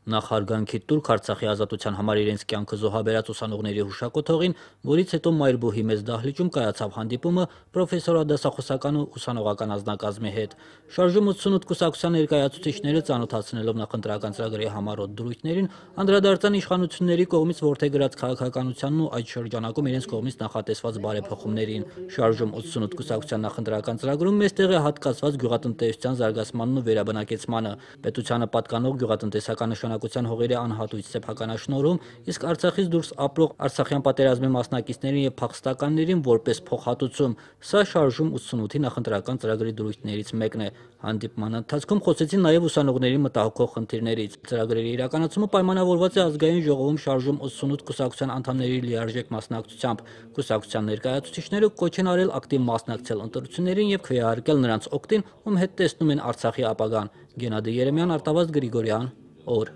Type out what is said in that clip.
Նախարգանքի տուրք Արցախի ազատության համար իրենց կյանքը զոհաբերած ուսանողների հուշակոթողին, որից հետո Մայրբուհի մեծ դահլիճում կայացավ հանդիպումը պրոֆեսորադասախոսական ու ուսանողական անձնակազմի հետ։ Շարժում 88 կուսակցության ներկայացուցիչները ծանոթացնելով նախընտրական ծրագրի համառոտ դրույթներին, անդրադարձան իշխանությունների կողմից որդեգրած քաղաքականությանն ու այդ շրջանակում իրենց կողմից նախատեսված բարեփոխումներին։ Շարժում 88 կուսակցության նախընտրական ծրագրում մեծտեղ է հատկացված գյուղատնտեսության զարգացմանն ու վերաբնակեցմանը, պետությանը պատկանող գյուղատնտեսական նշանակության հողերի անհատույց սեփականաշնորհում, իսկ Արցախից դուրս ապրող արցախյան պատերազմի մասնակիցներին եւ փախստականներին որպես փոխհատուցում։ Սա շարժում 88-ի նախընտրական ծրագրի դրույթներից մեկն է։ Հանդիպման ընթացքում խոսեցին նաեւ ուսանողների մտահոգող խնդիրներից։ Ծրագրերի իրականացումը պայմանավորված է ազգային ժողովում շարժում 88 կուսակցության անդամների լիարժեք մասնակցությամբ։ Կուսակցության ներկայացուցիչները կոչ են արել ակտիվ մասնակցել ընտրություններին եւ քվեարկել նրանց օգտին, ում հետ տեսնում են Արցախի ապագան։ Գենադի Երեմյան, Արտավազդ Գրիգորյան, օր։